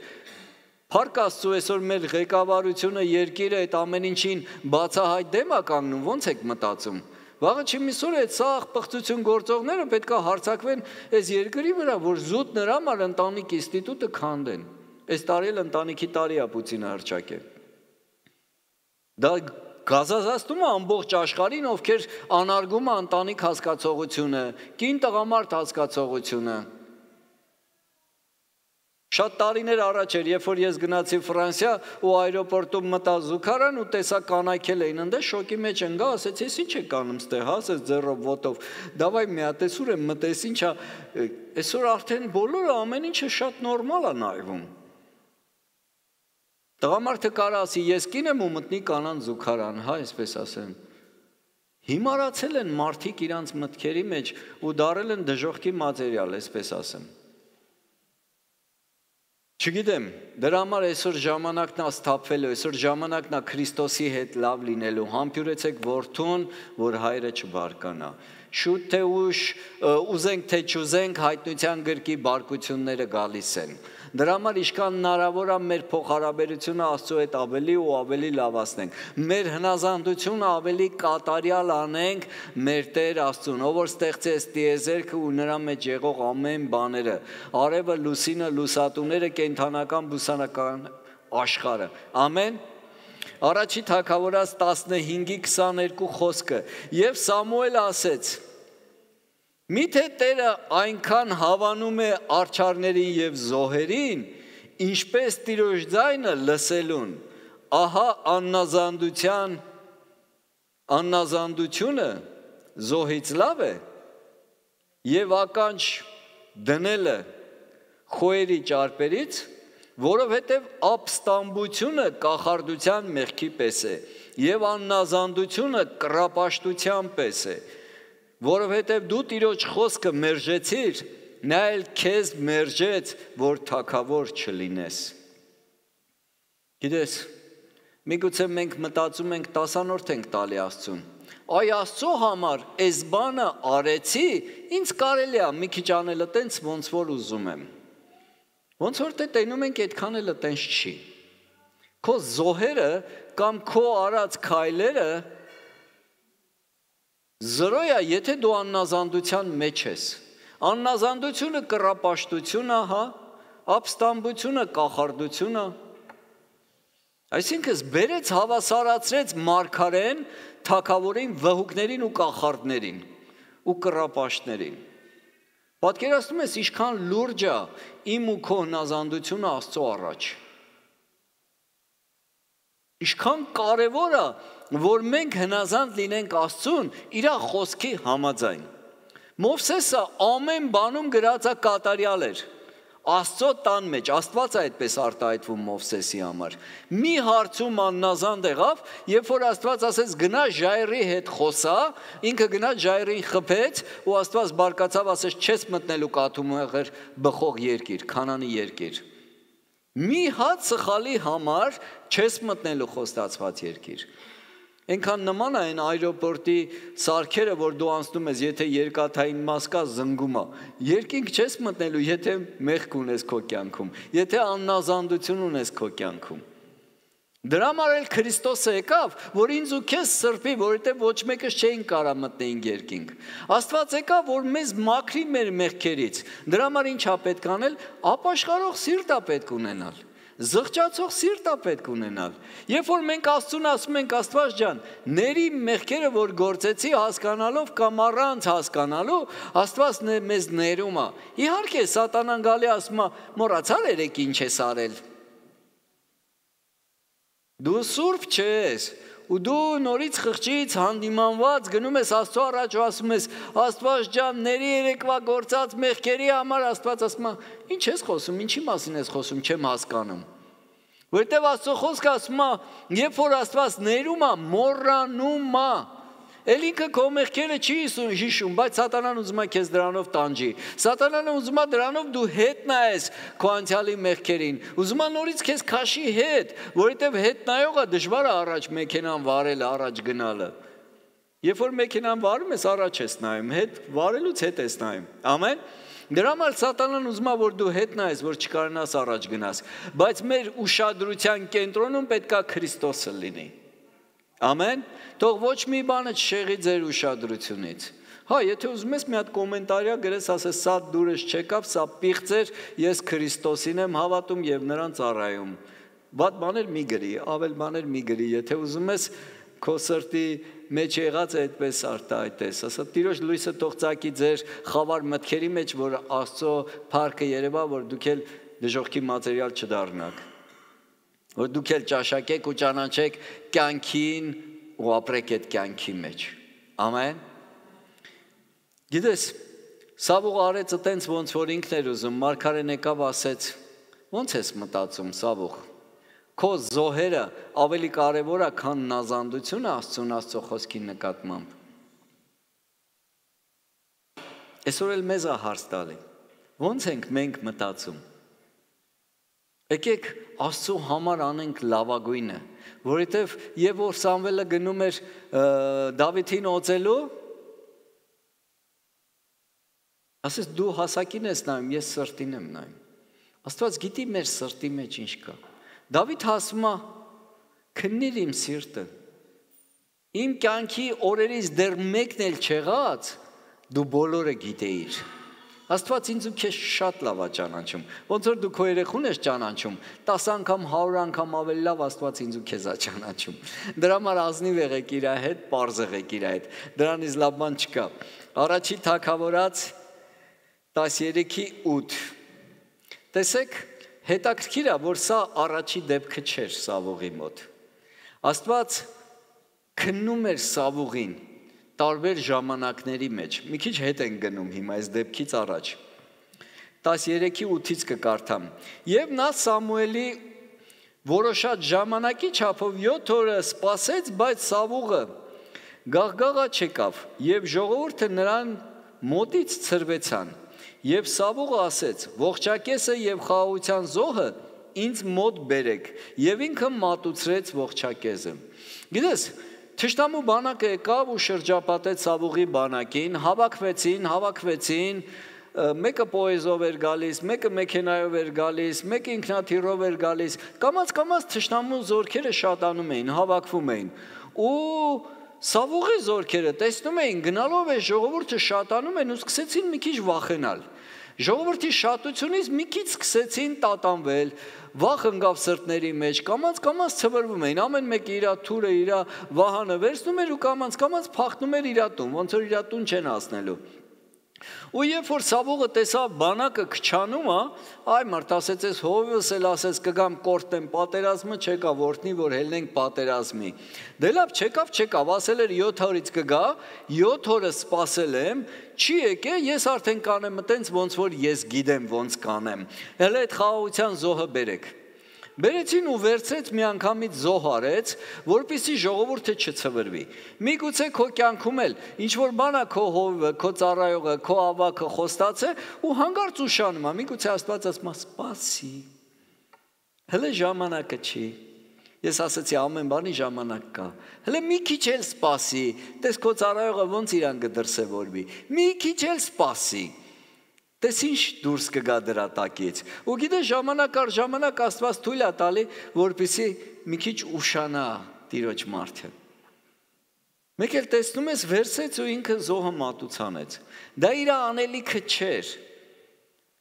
Փառք Աստծո, այսօր մեր ղեկավարությունը, երկիրը այդ ամեն ինչին բացահայտ դեմ է կանգնում, ոնց եք մտածում։ Վաղը չի միսօր այդ սաղ պղծություն գործողները պետք է հարձակվեն այս երկրի վրա, որ զուտ նրա համար ընտանիք ինստիտուտը քանդեն։ Այս տարի էլ ընտանիքի տարի է Պուտինը հռչակել։ Դա գազազացնում է ամբողջ աշխարհին, ովքեր անարգում է ընտանիք հասկացողությունը, կին տղամարդ հասկացողությունը։ Շատ տարիներ առաջ էր, երբ որ ես գնացի Ֆրանսիա ու այրոպորտում մտա զուգարան ու տեսա կանայքել էին ընդ շոկի մեջ ընկա, ասեցի, ես ինչ եք անում ստե, հա, ասեց ձեռով ոտով, դավայ մի հատ էսուր եմ մտես, ինչա, այսօր արդեն բոլորը ամեն ինչը շատ նորմալ է նայվում։ Տղամարդը կարա ասի, ես կին եմ ու մտնի կանան զուգարան, հա, այսպես ասեմ։ Հիմարացել են մարդիկ իրանց մտքերի մեջ ու դարել են դժոխքի մատերիալ, այսպես ասեմ։ Չգիտեմ, դրա համար այսօր ժամանակն է սթափվելու, այսօր ժամանակն է Քրիստոսի հետ լավ լինելու, համբյուրեցեք որդուն, որ հայրը չբարկանա։ Շուտ թե ուշ, ուզենք թե չուզենք, հայտնության գրկի բարկությունները գալիս են։ Դրա համար ինչքան հնարավոր է մեր փոխհարաբերությունը Աստծո հետ ավելի ու ավելի լավացնենք։ Մեր հնազանդությունը ավելի կատարյալ անենք մեր Տեր Աստծուն, ով որ ստեղծեց տիեզերքը ու նրա մեջ եղող ամեն բաները, արևը, լուսինը, լուսատուները, կենդանական, բուսանական աշխարհը։ Ամեն։ Առաջի Թագավորաց 15:22 խոսքը։ Եվ Սամուել ասեց. Միթե Տերը այնքան հավանում է արջարներին եւ զոհերին, ինչպես Տիրոջ ձայնը լսելուն, ահա աննազանդությունը զոհից լավ է եւ ականջ դնելը խոյերի ճարպերից, որովհետև ապստամբությունը կախարդության մեղքի պես է եւ աննազանդությունը կռապաշտության պես է, որովհետև դու Տիրոջ խոսքը մերժեցիր, նա էլ քեզ մերժեց, որ թագավոր չլինես։ Գիտես, միգուցե մենք մտածում ենք 10-րդ ենք տալի Աստծուն։ Այ Աստծո համար այս բանը արեցի, ինձ կարելի է մի քիչ անել այտենց ոնց որ ուզում եմ։ Ոնց որ դե տենում ենք այդքան էլ այտենց չի։ Քո զոհերը կամ քո արած քայլերը զրոյա, եթե դու աննազանդության մեջ ես, աննազանդությունը կռապաշտությունը, հա, ապստամբությունը կախարդությունը, այսինքն բերեց հավասարացրեց մարգարեն, թագավորին, վհուկներին ու կախարդներին ու կռապաշտներին։ Պատկերացնում ես ինչքան լուրջ է իմ ու քո հնազանդությունը Աստծո առաջ։ Ինչքան կարևոր է, որ մենք հնազանդ լինենք Աստծուն իր խոսքի համաձայն։ Մովսեսը ամեն բանում գրածա կատարյալ էր, Աստծո տան մեջ, Աստված է այդպես արտահայտվում Մովսեսի համար։ Մի հարցում աննազանդ եղավ, երբ որ Աստված ասեց գնա ժայռի հետ խոսա, ինքը գնաց ժայռին խփեց ու Աստված բարկացավ, ասեց չես մտնելու կաթում եղեր բխող երկիր, Քանանի երկիր։ Մի հատ սխալի համար չես մտնելու խոստացված երկիր։ Այնքան նման է այն այրոպորտի սարքերը, որ դու անցնում ես, եթե երկաթային մաս կա, զնգում է։ Երկինք չես մտնելու, եթե մեղք ունես քո կյանքում, եթե աննազանդություն ունես քո կյանքում։ Դրա համար էլ Քրիստոսը եկավ, որ ինձ ու քեզ սրբի, որովհետև ոչ մեկս չէին կարա մտնեին երկինք։ Աստված եկավ, որ մեզ մաքրի մեր մեղքերից։ Դրա համար ինչ է պետք անել, ապաշխարող սիրտ է պետք ունենալ։ Զղջացող սիրտ է պետք ունենալ։ Երբ որ մենք Աստծուն ասում ենք Աստված ջան, ների մեղքերը որ գործեցի հասկանալով կամ առանց հասկանալու, Աստված մեզ ներում է։ Իհարկե սատանան գալի ասում է, մոռացար երեք ինչ ես արել։ Դու սուրբ չես, ու դու նորից խղճից հանդիմանված գնում ես Աստծո առաջ ու ասում ես Աստված ջան, ների երեկվա գործած մեղքերի համար Աստված ասում է, ինչ ես խոսում, ինչի մասին ես խոսում, չեմ հասկանում։ Որտեվ Աստծո խոսքը ասում է, երբ որ Աստված ներում է, մոռանում է, էլ ինքը քո մեղքերը չի հիշում, բայց սատանան ուզում է քեզ դրանով տանջի։ Սատանան ուզում է դրանով դու հետ նայես քո անցյալի մեղքերին։ Ուզում է նորից քեզ քաշի հետ, որովհետև հետ նայողը դժվար է առաջ մեքենան վարելը, առաջ գնալը։ Երբ որ մեքենան վարում ես, առաջ ես նայում, հետ վարելուց հետ ես նայում։ Ամեն։ Դրա համար սատանան ուզում է, որ դու հետ նայես, որ չկարողանաս առաջ գնաս, բայց մեր ուշադրության կենտրոնում պետքա Քրիստոսը լինի։ Ամեն։ Թող ոչ մի բանը չշեղի ձեր ուշադրությունից։ Հա, եթե ուզում ես մի հատ կոմենտարիա գրես, ասես սա դուրս չեկավ, սա պիղծ էր, ես Քրիստոսին եմ հավատում եւ նրան ծառայում։ Վատ բաներ մի գրի, ավել բաներ մի գրի, եթե ուզում ես քո սրտի մեջ եղած է այդպես արտահայտես, ասա Տիրոջ լույսը թող ծակի ձեր խավար մտքերի մեջ, որ Աստծո փառքը երևա, որ դուք էլ դժոխքի մատերիալ չդառնաք, որ դուք էլ ճաշակեք ու ճանաչեք կյանքին ու ապրեք այդ կյանքի մեջ։ Ամեն։ Գիտես, Սավուղը արեց այտենց ոնց որ ինքն էր ուզում, մարգարեն եկավ ասեց, ոնց ես մտածում Սավուղ, քո զոհերը ավելի կարևոր է, քան նազանդությունը Աստծո խոսքի նկատմամբ։ Այսօր էլ մեզ է հարց տալի, ոնց ենք մենք մտածում։ Եկեք Աստծո համար անենք լավագույնը, որովհետև եւ որ Սամվելը գնում էր Դավիթին օծելու, ասես դու հասակին ես նայում, ես սրտին եմ նայում։ Աստված գիտի մեր սրտի մեջ ինչ կա։ Դավիթ ասում է, քննիր իմ սիրտը, իմ կյանքի օրերից դեռ մեկն էլ չեղած, դու բոլորը գիտեիր։ Աստված ինձ ու քեզ շատ լավ է ճանաչում, ոնց որ դու քո երեխուն ես ճանաչում, 10 անգամ, 100 անգամ ավելի լավ Աստված ինձ ու քեզ է ճանաչում։ Դրա համար ազնիվ եղեք իր հետ, պարզ եղեք իր հետ, դրանից լավ բան չկա։ Առաջի Թագավորաց 13:8 Տեսեք, հետաքրքիր է, որ սա առաջի դեպքը չէր Սավուղի մոտ։ Աստված քննում էր Սավուղին տարբեր ժամանակների մեջ։ Մի քիչ հետ են գնում հիմա այս դեպքից առաջ։ 13:8-ից կկարդամ։ Եվ նա Սամուելի որոշած ժամանակի չափով 7 օրը սպասեց, բայց Սավուղը գաղգաղա չեկավ, եւ ժողովուրդը նրան մոտից ցրվեցան։ Եվ Սավուղը ասեց. ողջակեսը եւ խաղաղության զոհը ինձ մոտ բերեք, եւ ինքը մատուցրեց ողջակեզը։ Գիտես, թշնամու բանակը եկավ ու շրջապատեց Սավուղի բանակին, հավաքվեցին, մեկը պոեզով էր գալիս, մեկը մեքենայով էր գալիս, մեկը ինքնաթիռով էր գալիս, կամաց թշնամու զորքերը շատանում էին, հավաքվում էին։ Ու Սավուղի զորքերը տեսնում էին, գնալով է ժողովուրդը շատանում են ու սկսեցին մի քիչ վախենալ։ Ժողովրդի շատությունից մի քիչ սկսեցին տատանվել, վախ ընկավ սրտների մեջ, կամաց ցվրվում էին, ամեն մեկը իր թուրը, իր վահանը վերցնում էր ու կամաց փախնում էր իր տուն, ոնց որ իր տուն չեն հասնելու։ Ու երբ որ Սավուղը տեսավ բանակը քչանում է, այ մարդ ասեց, ես հովիվս էլ ասեց կգամ կորտեմ պատերազմը, չեկա որտնի, որ հելնենք պատերազմի։ Դե լավ, չեկավ, ասել էր 7 օրից կգա, 7 օրը սպասել եմ, չի եկե, ես արդեն կանեմ այտենց ոնց որ ես գիտեմ ոնց կանեմ։ Հələ այդ խաղաղության զոհը բերեք։ Բերեցին ու վերցրեց մի անգամից զոհ արեց, որպեսզի ժողովուրդը չցվրվի։ Միգուցե քո կյանքում էլ ինչ որ բան է քո հովիվը, քո ծառայողը, քո ավակը խոստաց է ու հանգարց ուշանում է։ Միգուցե Աստված ասում է սպասի։ Հələ ժամանակը չի։ Ես ասացի ամեն բանի ժամանակ կա։ Հələ մի քիչ էլ սպասի։ Տես քո ծառայողը ոնց իրան կդրսևորվի։ Մի քիչ էլ սպասի։ Տես ինչ դուրս կգա դրա տակից։ Ու գիտես ժամանակ առ ժամանակ Աստված թույլ է տալի, որպեսզի մի քիչ ուշանա Տիրոջ մարդը։ Մեկ էլ տեսնում ես վերցեց ու ինքը զոհը մատուցանեց։ Դա իր անելիքը չէր։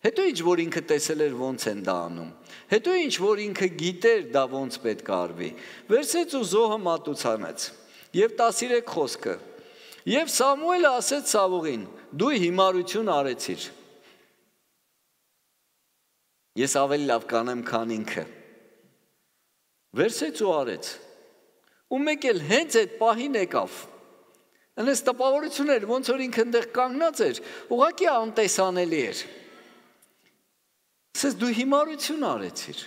Հետո ինչ որ ինքը տեսել էր ոնց են դա անում։ Հետո ինչ որ ինքը գիտեր դա ոնց պետք է արվի։ Վերցեց ու զոհը մատուցանեց։ Եվ 13 խոսքը։ Եվ Սամուելը ասեց Սավուղին. դու հիմարություն արեցիր։ Ես ավելի լավ կանեմ, քան ինքը։ Վերցեց ու արեց։ Ու մեկ էլ հենց այդ պահին եկավ։ Այնպես տպավորություն էր, ոնց որ ինքը այնտեղ կանգնած էր, ուղղակի անտեսանելի էր։ Ասես դու հիմարություն արեցիր։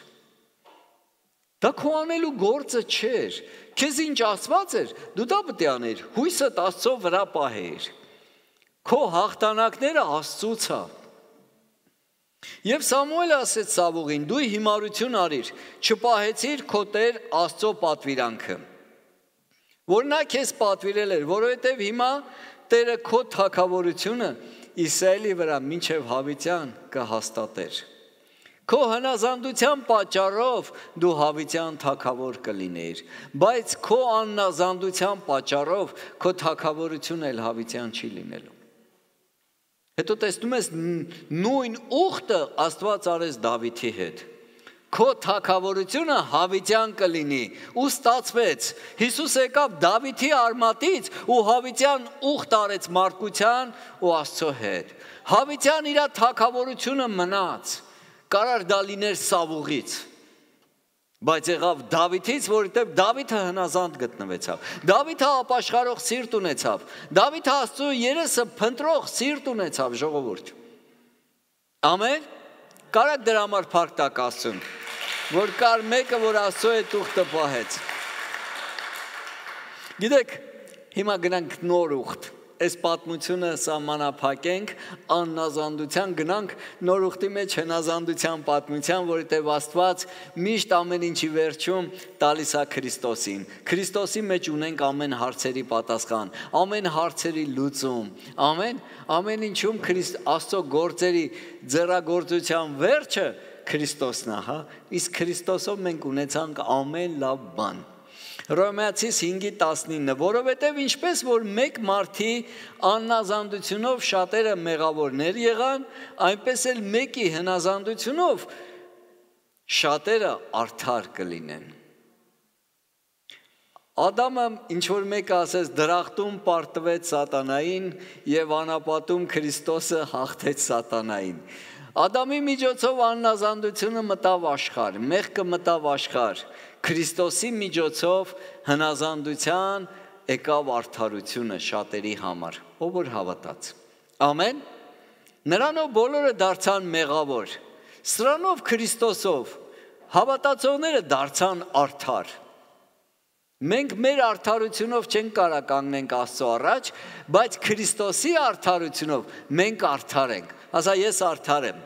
Դա քո անելու գործը չէր։ Քեզ ինչ ասված էր, դու դա պետք է աներ։ Հույսդ Աստծո վրա պահեիր։ Քո հաղթանակները Աստծուց է։ Եվ Սամուելը ասեց Սավուղին. դու հիմարություն արիր, չպահեցիր քո Տեր Աստծո պատվիրանքը, որ նա քեզ պատվիրել էր, որովհետև հիմա Տերը քո թագավորությունը Իսրայելի վրա մինչև հավիտյան կհաստատեր։ Քո հնազանդության պատճառով դու հավիտյան թագավոր կլինեիր, բայց քո աննազանդության պատճառով քո թագավորությունը էլ հավիտյան չի լինելու։ Հետո տեսնում ես նույն ուխտը Աստված արեց Դավիթի հետ։ Քո թագավորությունը հավիտյան կլինի ու ստացվեց։ Հիսուս եկավ Դավիթի արմատից ու հավիտյան ուխտ արեց մարդկության ու Աստծո հետ։ Հավիտյան իր թագավորությունը մնաց։ Կարար դա լիներ Սավուղից, բայց եղավ Դավիթից, որովհետև Դավիթը հնազանդ գտնվեցավ։ Դավիթը ապաշխարող սիրտ ունեցավ։ Դավիթը Աստծո երեսը փնտրող սիրտ ունեցավ, ժողովուրդ։ Ամեն։ Կարակ դրա համար փառք տակ Աստծուն, որ կար մեկը, որ Աստծո հետ ուխտը պահեց։ Գիտեք, հիմա գնանք նոր ուխտ։ Այս պատմությունը սահմանափակենք, աննազանդության գնանք նոր ուխտի մեջ հնազանդության պատմության, որովհետև Աստված միշտ ամեն ինչի վերջում տալիս է Քրիստոսին։ Քրիստոսի մեջ ունենք ամեն հարցերի պատասխան, ամեն հարցերի լուծում։ Ամեն ինչում Աստծո գործերի ձեռագործության վերջը Քրիստոսն է, հա։ Իսկ Քրիստոսով մենք ունեցանք ամեն լավ բան։ Հռոմեացիս 5:19, որովհետև ինչպես որ մեկ մարդի աննազանդությունով շատերը մեղավորներ եղան, այնպես էլ մեկի հնազանդությունով շատերը արդար կլինեն։ Ադամը ինչ որ մեկը ասեց դրախտում պարտվեց սատանային եւ անապատում Քրիստոսը հաղթեց սատանային։ Ադամի միջոցով աննազանդությունը մտավ աշխարհ, մեղքը մտավ աշխարհ։ Քրիստոսի միջոցով հնազանդության եկավ արդարությունը շատերի համար, ով որ հավատաց։ Ամեն։ Նրանով բոլորը դարձան մեղավոր։ Սրանով Քրիստոսով հավատացողները դարձան արդար։ Մենք մեր արդարությունով չենք կարող կանգնենք Աստծո առաջ, բայց Քրիստոսի արդարությունով մենք արդար ենք։ Ասա ես արդար եմ,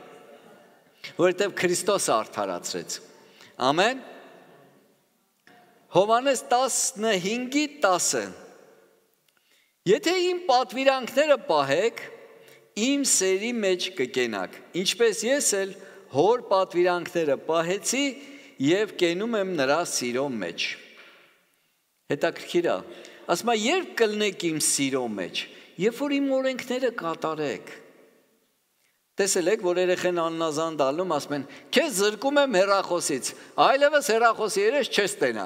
որովհետև Քրիստոսը արդարացրեց։ Ամեն։ Հովհաննես 15:10 Եթե իմ պատվիրանքները պահեք, իմ սերի մեջ կկենաք, ինչպես ես էլ հոր պատվիրանքները պահեցի և կենում եմ նրա սիրո մեջ։ Հետաքրքիր է, ասում է երբ կլնեք իմ սիրո մեջ, երբ որ իմ օրենքները կատարեք։ Տեսել եք, որ երեխեն աննազանդ ալնում, ասում են, քեզ զրկում եմ հեռախոսից, այլևս հեռախոսի երես չես տենա։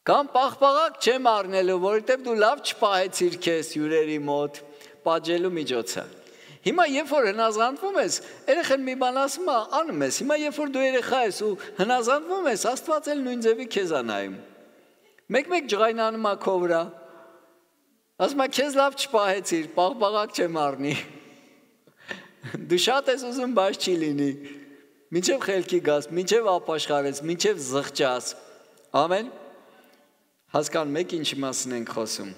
Կամ պաղպաղակ չեմ առնելու, որովհետև դու լավ չպահեցիր քեզ հյուրերի մոտ, պատժելու միջոցը։ Հիմա երբ որ հնազանդվում ես, երեխան մի բան ասում է, անում ես։ Հիմա երբ որ դու երեխա ես ու հնազանդվում ես, Աստված էլ նույն ձևի քեզ է նայում։ Մեկ-մեկ ջղայնանում է քո վրա։ Ասում է, քեզ լավ չպահեցիր, պաղպաղակ չեմ առնի։ Դու շատ ես ուզում, բայց չի լինի։ Մինչև խելքի գաս, մինչև ապաշխարես, մինչև զղջաս։ Ամեն։ Հասկանում եք ինչի մասին ենք խոսում։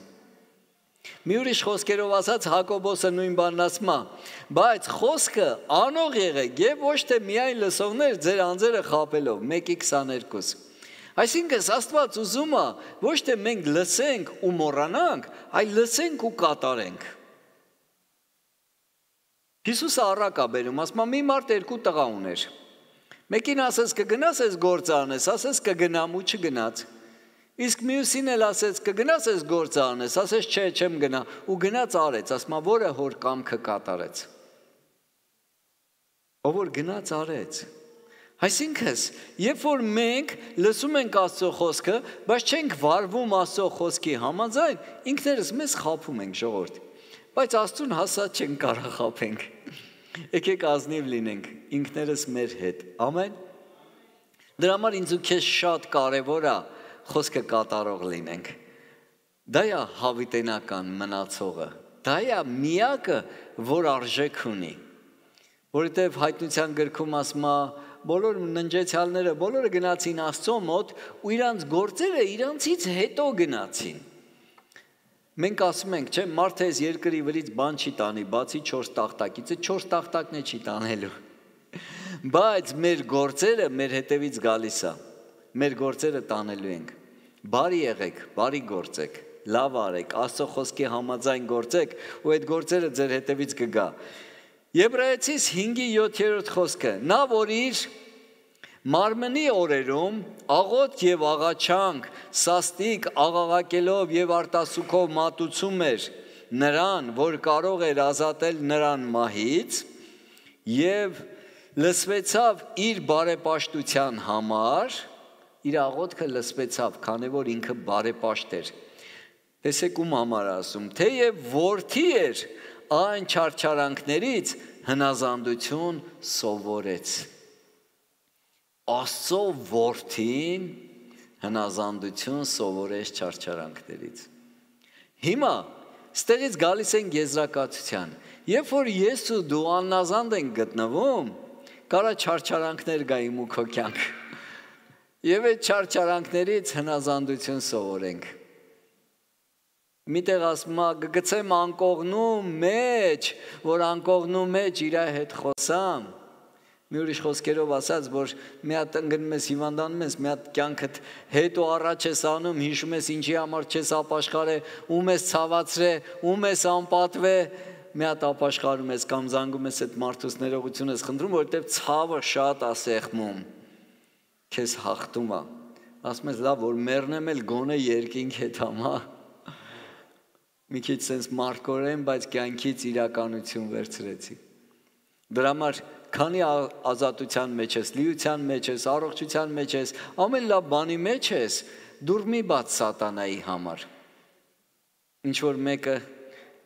Մի ուրիշ խոսքերով ասած Հակոբոսը նույն բանն ասում է, բայց խոսքը անող եղեք եւ ոչ թե միայն լսողներ ձեր անձերը խաբելով 1:22։ Այսինքն Աստված ուզում է ոչ թե մենք լսենք ու մոռանանք, այլ լսենք ու կատարենք։ Հիսուսը առակ է բերում, ասում է մի մարդ 2 տղա ուներ։ Մեկին ասես կգնաս այս գործը անես, ասես կգնամ ու չգնաց։ Իսկ մյուսին էլ ասեց կգնաս այս գործը անես, ասես չէ, չեմ գնա ու գնաց արեց, ասում է որը հոր կամքը կատարեց։ Ով որ գնաց արեց։ Այսինքն, երբ որ մենք լսում ենք Աստծո խոսքը, բայց չենք վարվում Աստծո խոսքի համաձայն, ինքներս մեզ խաբում ենք ժողովուրդ։ Բայց Աստծուն հասած չենք կարող խաբենք։ Եկեք ազնիվ լինենք ինքներս մեր հետ։ Ամեն։ Դրա համար ինձ ու քեզ շատ կարևոր է խոսքը կատարող լինենք։ Դա է հավիտենական մնացողը։ Դա է միակը, որ արժեք ունի։ Որովհետև հայտնության գրքում ասում է, բոլոր ննջեցյալները բոլորը գնացին Աստծո մոտ ու իրանց գործերը իրանցից հետո գնացին։ Մենք ասում ենք, չէ, մարդը այս երկրի վրից բան չի տանի, բացի 4 տախտակից, 4 տախտակն է չի տանելու։ Բայց մեր գործերը մեր հետևից գալիս է։ Մեր գործերը տանելու ենք։ Բարի եղեք, բարի գործեք, լավ արեք, Աստծո խոսքի համաձայն գործեք ու այդ գործերը ձեր հետևից կգա։ Եբրայեցիս 5:7 խոսքը, նա որ իր մարմնի օրերում աղոտ եւ աղաչանք, սաստիկ աղաղակելով եւ արտասուքով մատուցում էր նրան, որ կարող էր ազատել նրան մահից եւ լսվեցավ իր բարեպաշտության համար, իր աղոթքը լսվեցավ, քանի որ ինքը բարեպաշտ էր։ Տեսեք ում համար ասում, թեև որդի էր, այն չարչարանքներից հնազանդություն սովորեց։ Աստծո որդին հնազանդություն սովորեց չարչարանքներից։ Հիմա ստեղից գալիս են եզրակացության։ Երբ որ ես ու դու աննազանդ ենք գտնվում, կարա չարչարանքներ գային ու քո կյանք։ Եվ այդ չարչարանքներից հնազանդություն սովորենք։ Միտեղ ասում է գցեմ անկողնու մեջ, որ անկողնու մեջ իր հետ խոսամ։ Մի ուրիշ խոսքերով ասած, որ մի հատ ընկնում ես հիվանդանում ես, մի հատ կյանքդ հետ ու առաջ ես անում, հիշում ես ինչի համար չես ապաշխարե, ում ես ցավացրե, ում ես անպատվե, մի հատ ապաշխարում ես կամ զանգում ես այդ մարդուց ներողություն ես խնդրում, որովհետև ցավը շատ է սեղմում, քեզ հաղթում է։ Ասում ես լավ, որ մեռնեմ էլ գոնե երկինք հետ համա։ Մի քիչ sense մարկորեն, բայց կյանքից իրականություն վերցրեցի։ Դրա համար քանի ազատության մեջ ես, լիության մեջ ես, առողջության մեջ ես, ամեն լավ բանի մեջ ես, դուր մի բաց սատանայի համար։ Ինչ որ մեկը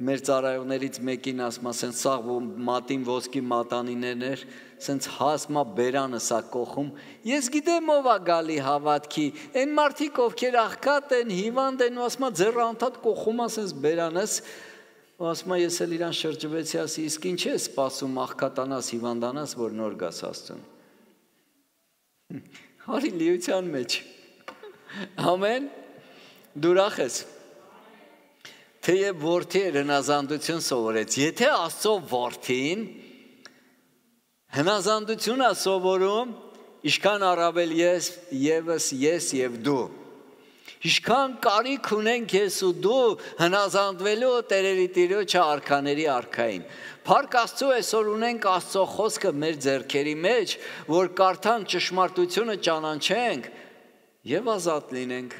մեր ծառայողներից մեկին ասում է, սենց սաղ մատին ոսկի մատանիներն էր, սենց հասմա բերանը սա կողում, ես գիտեմ ով է գալի հավատքի, այն մարդիկ ովքեր աղքատ են, հիվանդ են, ու ասում է ձեռը անդադ կողում է սենց բերանս, ու ասում է ես էլ իրան շրջվեցի, ասի, իսկ ինչ ես սպասում աղքատանաս, հիվանդանաս, որ նոր գաս Աստծուն։ Հարի լիության մեջ։ Ամեն, դու ուրախ ես։ Թեև որդի էր հնազանդություն սովորեց, եթե Աստծո որդին հնազանդություն է սովորում, ինչքան առավել ես եւ դու։ Ինչքան կարիք ունենք ես ու դու հնազանդվելու Տերերի Տիրոջը արքաների արքային։ Փառք Աստծո, այսօր ունենք Աստծո խոսքը մեր ձեռքերի մեջ, որ կարդանք ճշմարտությունը ճանաչենք եւ ազատ լինենք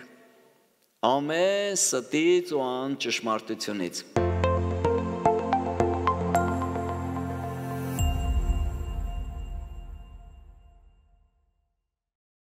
ամեն ստից ու անճշմարտությունից։